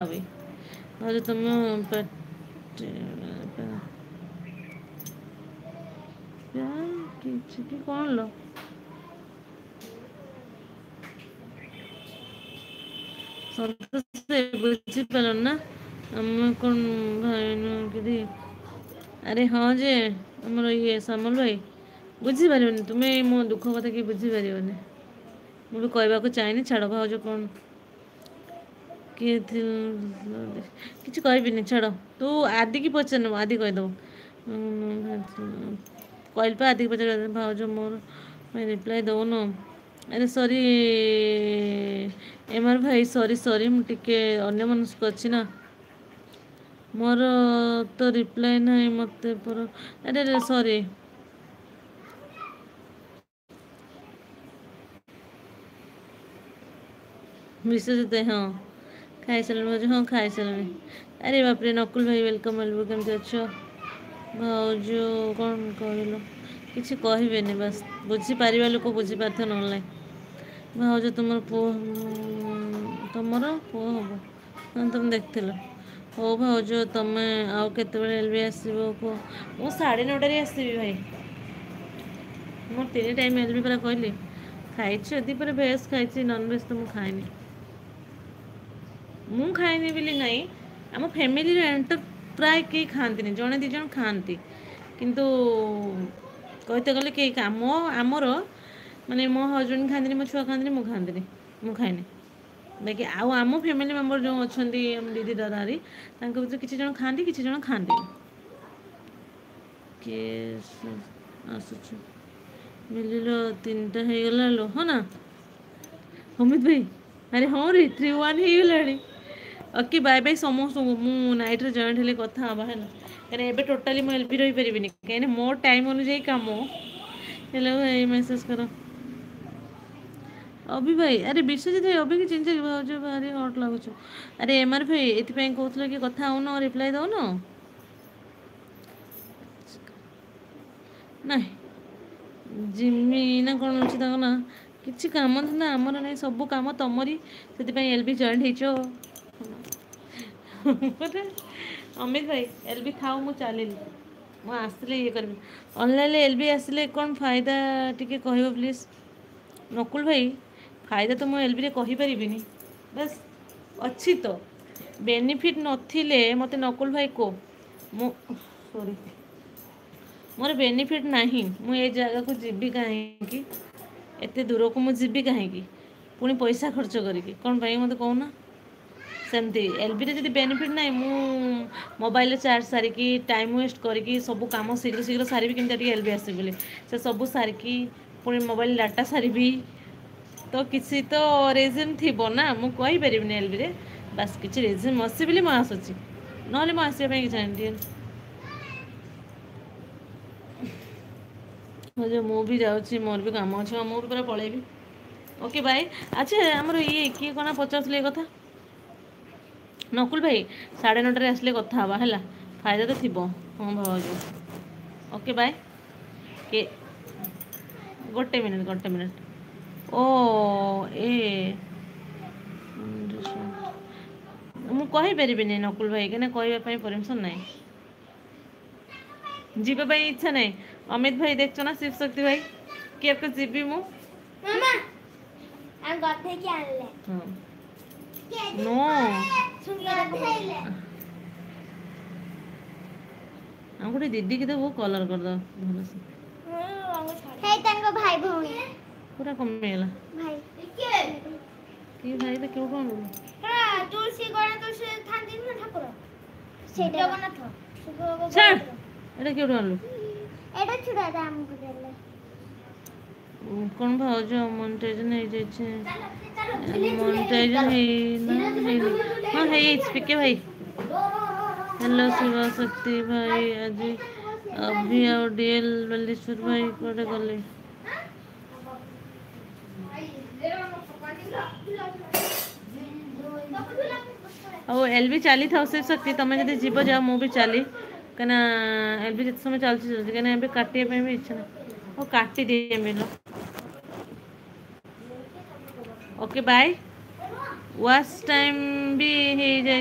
ବି। ଭାଉଜ ତମ ପାଟି କିଛି କି କ'ଣ ଲୋ? ସନ୍ତୋଷ, ବୁଝିପାରିଲ ନା? ଆମେ କ'ଣ ଭାଇ ନୁହଁ? ଆରେ ହଁ ଯେ, ଆମର ଇଏ ସାମଲ ଭାଇ, ବୁଝିପାରିବନି ତୁମେ ମୋ ଦୁଃଖ କଥା, କି ବୁଝିପାରିବନି। ମୁଁ ବି କହିବାକୁ ଚାହେଁନି, ଛାଡ଼। ଭାଉଜ କ'ଣ କିଏ କିଛି କହିବିନି, ଛାଡ଼। ତୁ ଆଦିକି ପଚାରି ନେବୁ, ଆଦି କହିଦେବ। କହିଲି ପା, ଆଦିକି ପଚାର। ଭାଉଜ, ମୋର ରିପ୍ଲାଏ ଦେଉନ। ଆରେ ସରି ଏମାର ଭାଇ, ସରି ସରି, ମୁଁ ଟିକେ ଅନ୍ୟମନସ୍କ ଅଛି ନା। ମୋର ତ ରିପ୍ଲାଏ ନାହିଁ ମୋତେ ପର। ଆରେ ଆରେ, ସରି ବିଶ୍ୱଜିତ। ହଁ, ଖାଇସାରିଲଣି ଭାଉଜ? ହଁ, ଖାଇସାରିଲିଣି। ଆରେ ବାପରେ, ନକୁଲ ଭାଇ, welcome welcome. କେମିତି ଅଛ ଭାଉଜ? କ'ଣ କହିଲ? କିଛି କହିବେନି, ବାସ୍ ବୁଝିପାରିବା ଲୋକ ବୁଝିପାରିଥିବ, ନହେଲେ ନାହିଁ। ଭାଉଜ, ତୁମର ପୁଅ, ତୁମର ପୁଅ ହବ? ହଁ, ତୁମେ ଦେଖିଥିଲ। ହଉ ଭାଉଜ, ତମେ ଆଉ କେତେବେଳେ ଏଲ୍ ବି ଆସିବ କୁହ? ମୁଁ 9:30ରେ ଆସିବି ଭାଇ। ମୋର 3 ଟାଇମ୍ ଏଲ୍ ବି ପରା କହିଲି। ଖାଇଛି ଦ୍ୱିପହରେ ଭେଜ୍ ଖାଇଛି, ନନଭେଜ୍ ତ ମୁଁ ଖାଏନି। ମୁଁ ଖାଏନି ବୋଲି ନାହିଁ, ଆମ ଫ୍ୟାମିଲିରେ ଏଣ୍ଟର ପ୍ରାୟ କେହି ଖାଆନ୍ତିନି। ଜଣେ ଦୁଇ ଜଣ ଖାଆନ୍ତି, କିନ୍ତୁ କହିତେ ଗଲେ କେହି କାମ ଆମର ମାନେ ମୋ ହଜବେଣ୍ଡ ଖାଆନ୍ତିନି, ମୋ ଛୁଆ ଖାଆନ୍ତିନି, ମୁଁ ଖାଆନ୍ତିନି, ମୁଁ ଖାଏନି। ବାକି ଆଉ ଆମ ଫ୍ୟାମିଲି ମେମ୍ବର ଯେଉଁ ଅଛନ୍ତି, ଆମ ଦିଦି ଦାଦା, ତାଙ୍କ ଭିତରୁ କିଛି ଜଣ ଖାଆନ୍ତି, କିଛି ଜଣ ଖାଆନ୍ତିନି। କିଏ ଆସୁଛୁ ମିଳିଲ? 3ଟା ହେଇଗଲା ଲୋ। ହଁ ନା ଅମିତ ଭାଇ? ଆରେ ହଁ ରେ, 3-1 ହେଇଗଲାଣି। ଓକେ, ବାଏ ବାଏ ସମସ୍ତଙ୍କୁ। ମୁଁ ନାଇଟ୍ରେ ଜଏଣ୍ଟ ହେଲେ କଥା ହେବା, ହେଲା? କାହିଁକିନା ଏବେ ଟୋଟାଲି ମୁଁ ଏଲ୍ ବି ରହିପାରିବିନି, କାହିଁକିନା ମୋ ଟାଇମ୍ ଅନୁଯାୟୀ କାମ। ହେଲୋ ଭାଇ, ମେସେଜ୍ କର ଅଭି ଭାଇ। ଆରେ ବିଶ୍ୱଜିତ ଭାଇ, ଅଭିକି ଚିହ୍ନିଛ କି? ଭାଉଜ, ଭାରି ହଟ୍ ଲାଗୁଛ। ଆରେ ଏମ୍ ଆର୍ ଭାଇ, ଏଥିପାଇଁ କହୁଥିଲ କି କଥା ହଉନ, ରିପ୍ଲାଏ ଦଉନ ନାଇଁ। ଜିମି ନା କ'ଣ ଅଛି ତାଙ୍କ ନାଁ? କିଛି କାମ ଧନ୍ଦା ଆମର ନାହିଁ, ସବୁ କାମ ତମରି, ସେଥିପାଇଁ ଏଲ୍ ବି ଜଏଣ୍ଟ ହେଇଛ। ଅମିତ ଭାଇ, ଏଲ୍ ବି ଥାଉ, ମୁଁ ଚାଲିଲି। ମୁଁ ଆସିଲେ ଇଏ କରିବି। ଅନଲାଇନ୍ରେ ଏଲ୍ ବି ଆସିଲେ କ'ଣ ଫାଇଦା ଟିକେ କହିବ ପ୍ଲିଜ୍? ନକୁଲ ଭାଇ, ଫାଇଦା ତ ମୁଁ ଏଲ୍ ବିରେ କହିପାରିବିନି, ବାସ୍ ଅଛି ତ। ବେନିଫିଟ୍ ନଥିଲେ ମୋତେ ନକୁଲ ଭାଇ କୁହ। ମୁଁ ସରି, ମୋର ବେନିଫିଟ୍ ନାହିଁ, ମୁଁ ଏ ଜାଗାକୁ ଯିବି କାହିଁକି? ଏତେ ଦୂରକୁ ମୁଁ ଯିବି କାହିଁକି ପୁଣି ପଇସା ଖର୍ଚ୍ଚ କରିକି, କ'ଣ ପାଇଁ ମୋତେ କହୁନା? ସେମିତି ଏଲ୍ ବିରେ ଯଦି ବେନିଫିଟ୍ ନାହିଁ, ମୁଁ ମୋବାଇଲରେ ଚାର୍ଜ ସାରିକି, ଟାଇମ୍ ୱେଷ୍ଟ କରିକି, ସବୁ କାମ ଶୀଘ୍ର ଶୀଘ୍ର ସାରିବି କେମିତି ଟିକେ ଏଲ୍ ବି ଆସିବି ବୋଲି, ସେ ସବୁ ସାରିକି ପୁଣି ମୋବାଇଲ ଡାଟା ସାରିବି, ତ କିଛି ତ ରିଜନ୍ ଥିବ ନା। ମୁଁ କହିପାରିବିନି ଏଲ୍ ବିରେ, ବାସ୍ କିଛି ରିଜନ୍ ଅଛି ବୋଲି ମୁଁ ଆସୁଛି, ନହେଲେ ମୁଁ ଆସିବା ପାଇଁ କିଛି ନାହିଁ। ମୁଁ ବି ଯାଉଛି, ମୋର ବି କାମ ଅଛି, ମୁଁ ବି ପୁରା ପଳେଇବି। Okay, bye. ଆଚ୍ଛା, ଆମର ଇଏ କିଏ କ'ଣ ପଚାରୁଥିଲେ ଏ କଥା? ନକୁଲ ଭାଇ, 9:30ରେ ଆସିଲେ କଥା ହେବା, ହେଲା? ଫାଇଦା ତ ଥିବ। ହଁ ଭାଉଜ, ଓକେ ବାଏ। କେ ଗୋଟେ ମିନିଟ୍, ଗୋଟେ ମିନିଟ୍। ଓ ଏ ମୁଁ କହିପାରିବିନି ନକୁଲ ଭାଇ, କାହିଁକିନା କହିବା ପାଇଁ ପରମିସନ୍ ନାହିଁ, ଯିବା ପାଇଁ ଇଚ୍ଛା ନାହିଁ। ଅମିତ ଭାଇ, ଦେଖଛ ନା ଶିବଶକ୍ତି ଭାଇ, କିଏ ଯିବି ମୁଁ? ହଁ ନୋ, ଆଉ ଗୋଟେ ଦିଦିକି ଦେବୁ, କଲର୍ କରିଦେବ ଭଲସେ। ତାଙ୍କ ଭାଇ ଭଉଣୀ ପୁରା କମିଗଲା। କି ଭାଇ? କେଉଁଠୁ ଆଣିଲୁ? ତୁଳସୀ ଗଣ, ତୁଳସୀ ଥାନ୍ତି ନା ଠାକୁର ଜଗନ୍ନାଥ। ଛାଡ଼, ଏଇଟା କେଉଁଠୁ ଆଣିଲୁ? ଏଇଟା ଛୁଆଟା ଆମକୁ ଦେଲେ। କ'ଣ ଭାଉଜ, ମନିଟାଇଜେସନ୍ ହେଇଯାଇଛି? ମନିଟାଇଜେସନ୍ ହେଇନା, ହେଇନି? ହଁ, ହେଇଯାଇଛି। ପିକେ ଭାଇ, ହ୍ୟାଲୋ। ଶିବଶକ୍ତି ଭାଇ, ଆଜି ଅଭି ଆଉ ଡିଏଲ୍ ବାଲେଶ୍ୱର ଭାଇ କୁଆଡ଼େ ଗଲେ? ଆଉ ଏଲ୍ ବି ଚାଲିଥାଉ। ସେ ଶକ୍ତି, ତମେ ଯଦି ଯିବ ଯାଅ, ମୁଁ ବି ଚାଲି, କାହିଁକିନା ଏଲ୍ ବି ଯେତେ ସମୟ ଚାଲୁଛି ଚାଲୁଛି, କାହିଁକିନା ଏବେ କାଟିବା ପାଇଁ ବି ଇଚ୍ଛା ନାହିଁ। ହଉ, କାଟିଦିଏ ମିଲ। Okay bye. ୱାଚ୍ ଟାଇମ୍ ବି ହେଇଯାଇଛି।